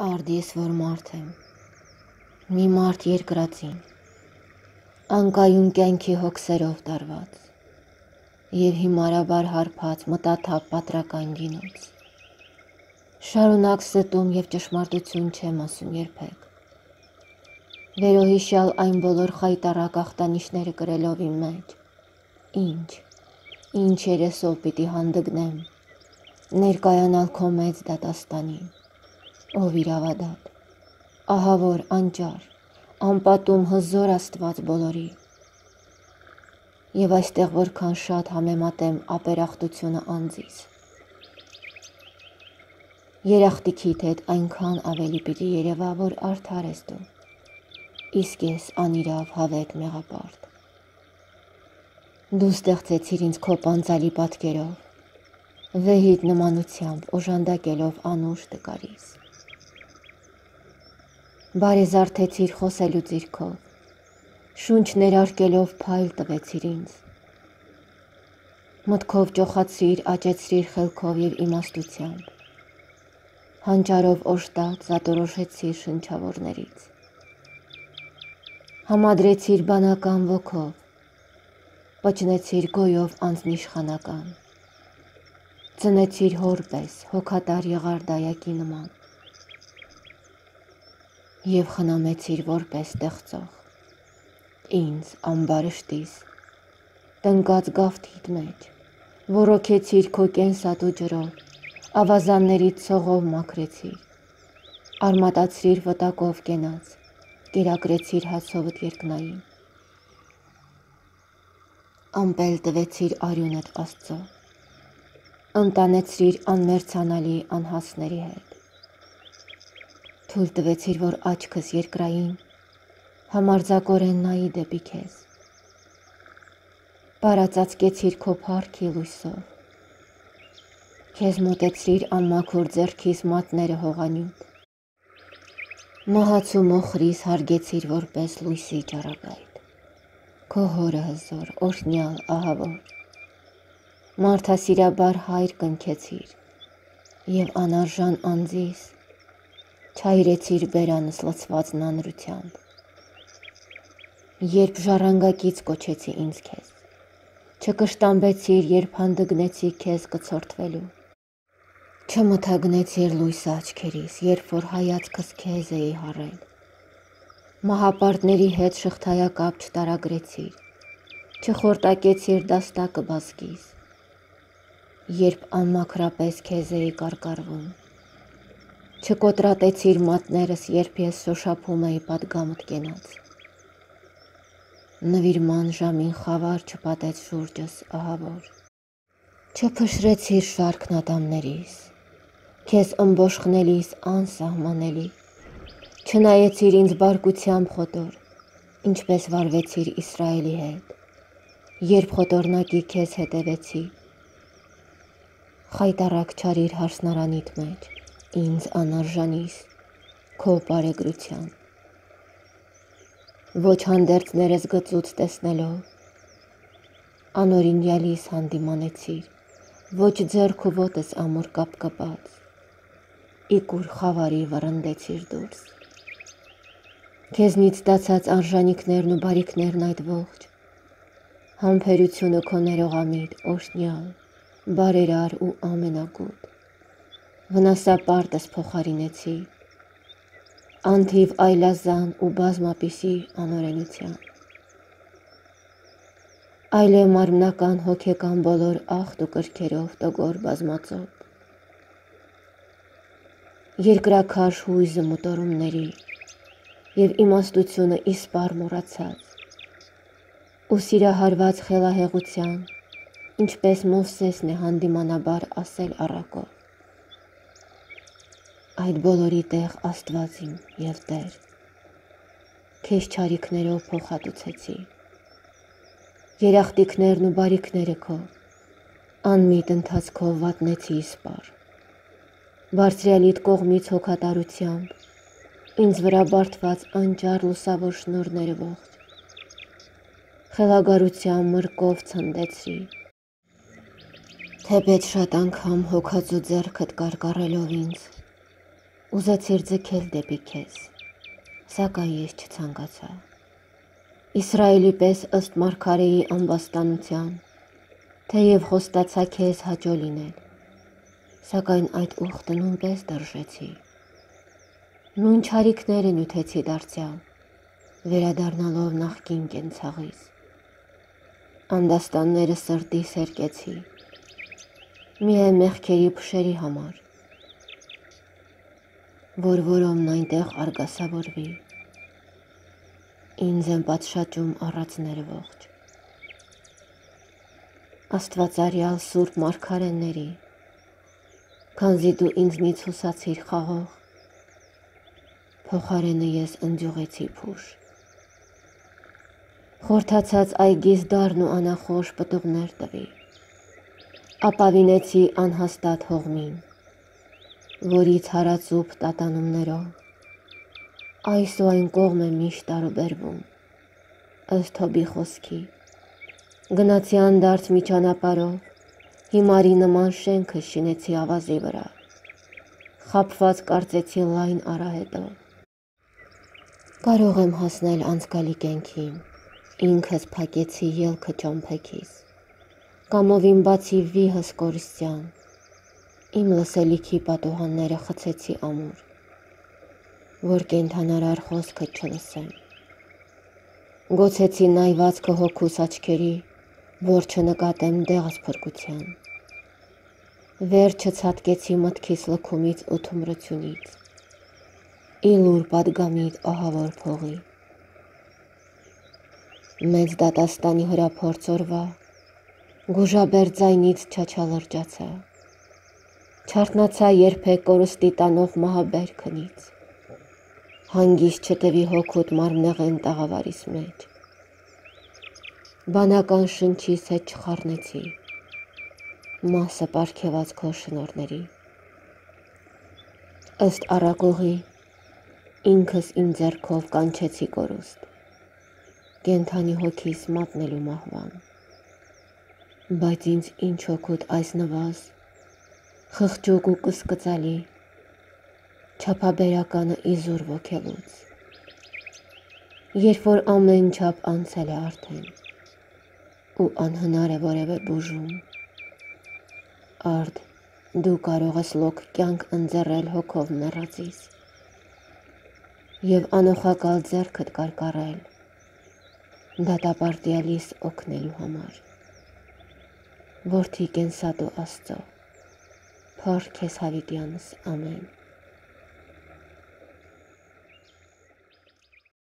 Արդ ես որ մարդ եմ, մի մարդ երկրածին, անկայուն կյանքի հոգսերով տարված և հիմարաբար հարբած մտաթափ պատրական գինոց։ Շարունակ ստում և ճշմարտություն չեմ ասում երբեք, վերոհիշյալ այն բոլոր խայտառակ ախտանիշները կրելով իմ մեջ, ինչ երեսով պիտի հանդգնեմ, ներկայանալ քո մեծ դատաստանին, ով իրավադատ, ահավոր, անճար, անպատում հզոր Աստված բոլորի, և այստեղ որքան շատ համեմատեմ ապերախտությունը անձիս, երախտիքիդ հետ այնքան ավելի պիտի երևա, որ արդար ես դու, իսկ ես անիրավ հավետ մեղապարտ։ Դու ստեղծեցիր ինձ քո պանծալի պատկերով, վեհիդ նմանությամբ օժանդակելով անուշ տկարիս։ Բարեզարդեցիր խոսելու ձիրքով, շունչ ներարկելով փայլ տվեցիր ինձ, մտքով ճոխացրիր, աճեցրիր խելքով և իմաստությամբ, հանճարով օժտած զատորոշեցիր շնչավորներից, համադրեցիր բանական ոգով, պճնեցիր գոյով անձնիշխանական, ծնեցիր հոր պես հոգատար եղար դայակի նման, և խնամեցիր որպես ստեղծող, ինձ ամբարշտիս, տնկած գավթիդ մեջ, ոռոգեցիր քո կենսատու ջրով, ավազաններից ցողով մաքրեցիր, արմատացրիր վտակով կենաց, կերակրեցիր հացովդ երկնային, ամպել տվեցիր արյունդ Աստծո, ընտանեցրիր անմերձանալի անհասների հետ, թույլ տվեցիր, որ աչքս երկրային համարձակորեն նայի դեպի քեզ, պարածածկեցիր քո փառքի լույսով, քեզ մոտեցրիր անմաքուր ձեռքիս մատները հողանյութ, մահացու մոխրիս հարգեցիր որպես լույսի ճառագայթ, քո հորը հզոր, օրհնյալ, ահավոր, մարդասիրաբար հայր կնքեցիր և անարժան անձիս չայրեցիր բերանս լցված նանրությամբ, երբ ժառանգակից կոչեցի ինձ քեզ, չկշտամբեցիր, երբ հանդգնեցի քեզ կցորդվելու, չմթագնեցիր լույսը աչքերիս, երբ որ հայացքս քեզ էի հառել, մահապարտների հետ շղթայակապ չտարագրեցիր, չխորտակեցիր դաստակը բազկիս, երբ անմաքրապես քեզ էի կարկառվում, չկոտրատեցիր մատներս, երբ ես շոշափում էի պատգամդ կենաց, նվիրման ժամին խավար չպատեց շուրջս, ահավոր, չփշրեցիր շարքն ատամներիս, քեզ ըմբոշխնելիս անսահմանելի, չնայեցիր ինձ բարկությամբ խոտոր, ինչպես վարվեցիր Իսրայելի հետ, երբ խոտորնակի քեզ հետևեցի, խայտառակ չարիր հարսնարանիդ մեջ, ինձ անարժանիս, քո բարեգրության, ոչ հանդերձներս գծուց տեսնելով, անօրինյալիս հանդիմանեցիր, ոչ ձեռք ու ոտս ամուր կապկպած, իգուր խավարի վռնդեցիր դուրս, քեզնից ստացած արժանիքներն ու բարիքներն այդ ողջ, համբերությունը քո ներողամիտ, օրհնյալ, բարերար ու ամենագութ, վնասապարտս փոխարինեցի, անթիվ այլազան ու բազմապիսի անօրենությամբ, այլև մարմնական հոգեկան բոլոր ախտ ու կրքերով տգոր բազմածոտ, երկրաքարշ հույզը մտորումների և իմաստությունը իսպառ մոռացած, ու սիրահարված խելահեղության, ինչպես Մովսեսն է հանդիմանաբար ասել առակով, այդ բոլորի տեղ Աստված իմ և Տեր, քեզ չարիքներով փոխհատուցեցի, երախտիքներն ու բարիքները քո, անմիտ ընթացքով վատնեցի իսպառ, բարձրյալիդ կողմից հոգատարությամբ, ինձ վրա բարդված անճար լուսավոր շնորհները ողջ, խելագարությամբ մրկով ցնդեցրի, թեպետ շատ անգամ հոգածու ձեռքդ կարկառելով ինձ, ուզեցիր ձգել դեպի քեզ, սակայն ես չցանկացա։ Իսրայելի պես ըստ մարգարեի ամբաստանության, թեև խոստացա քեզ հաճո լինել, սակայն այդ ուխտը նույնպես դրժեցի։ Նույն չարիքները նյութեցի դարձյալ, վերադառնալով նախկին կենցաղից։ Անդաստանները սրտի սերկեցի, միայն մեղքերի փշերի համար, որ որոմն այնտեղ արգասավորվի, ինձ եմ պատշաճում առածները ողջ։ Աստվածարյալ սուրբ մարգարեների, քանզի դու ինձնից հուսացիր խաղող, փոխարենը ես ընջուղեցի փուշ։ Խորթացած այգիս դառն ու անախորժ պտուղներ տվի, ապավինեցի անհաստատ հողմին, որից հարածուփ տատանումներով այս ու այն կողմ է միշտ տարուբերվում, ըստ Հոբի խոսքի, գնացի անդարձ մի ճանապարհով, հիմարի նման շենքը շինեցի ավազի վրա, խաբված կարծեցի լայն արահետով։ Կարող եմ հասնել անցկալի կյանքին, ինքս փակեցի ելքը ճամփեքիս, կամովին բացի վիհս կորստյան, իմ լսելիքի պատուհանները խցեցի ամուր, որ կենդանարար խոսքը չլսեմ։ Գոցեցի նայվածքը հոգուս աչքերի, որ չնկատեմ դեղս փրկության։ Վերջը ցատկեցի մտքիս լքումից ու թմրությունից, իլուր պատգամիտ ահավոր փողի։ Մեծ դատաստանի հրափորձ օրվա, գուժաբեր ձայնից չաչալրջացա, չարթնացա երբեք կորստի տանող մահաբեր քնից, հանգիստ չտվի հոգուտ մարմնեղեն տաղավարիս մեջ, բանական շնչիս հետ չխառնեցի, մասը պարգևած քո շնորհների, ըստ առակողի, ինքս իմ ձեռքով կանչեցի կորուստ, կենդանի հոգիս մատնելու մահվան, բայց ինձ ինչ օգուտ այս նվազ, խղճուկ ու կսկծալի, չափաբերականը իզուր ոգելուց, երբ որ ամեն չափ անցել է արդեն, ու անհնար է որևէ բուժում, արդ դու կարող ես լոկ կյանք ընձեռել հոգով մեռածիս և անօխակալ ձեռքդ կարկառել դատապարտյալիս օգնելու համար, որդի կենսատու Աստծո, փառք քեզ հավիտյանս, ամեն։